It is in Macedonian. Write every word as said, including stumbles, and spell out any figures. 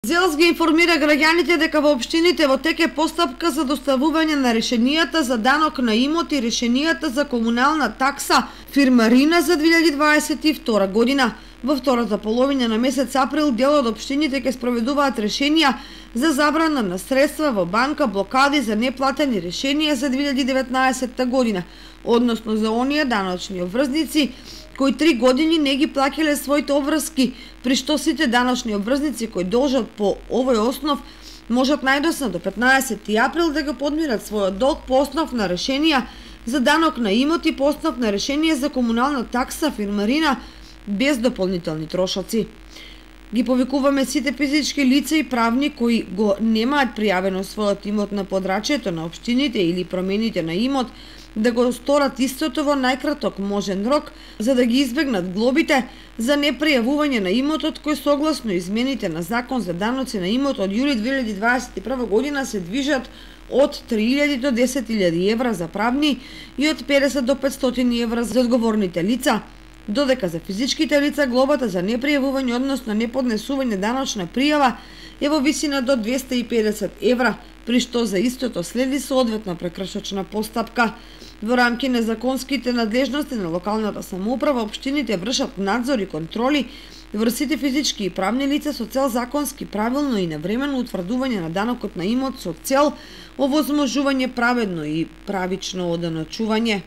ЗЕЛС ги информира граѓаните дека во општините во тек е постапка за доставување на решенијата за данок на имот и решенијата за комунална такса фирмарина за две илјади дваесет и втора година. Во втората половина на месец април дел од општините ќе спроведуваат решенија за забрана на средства во банка, блокади за неплатени решенија за две илјади деветнаесетта година, односно за оние даночни обврзници кои три години не ги плаќале своите обврски, при што сите даночни обврзници кои должат по овој основ можат најдосно до петнаесети април да го подмират својот долг по основ на решенија за данок на имот и по основ на решение за комунална такса фирмарина без дополнителни трошоци. Ги повикуваме сите физички лица и правни кои го немаат пријавено својот имот на подрачјето на општините или промените на имот да го сторат истото во најкраток можен рок, за да ги избегнат глобите за непријавување на имотот кој согласно измените на Закон за даноци на имот од јули две илјади дваесет и прва година се движат од три илјади до десет илјади евра за правни и од педесет до петстотини евра за одговорните лица, додека за физичките лица глобата за непријавување, односно неподнесување даночна пријава е во висина до двесте и педесет евра, при што за истото следи соодветна прекршочна постапка. Во рамки на законските надлежности на локалната самоуправа, општините вршат надзор и контроли врз сите физички и правни лица со цел законски правилно и навремено утврдување на данокот на имот со цел овозможување праведно и правично оданочување.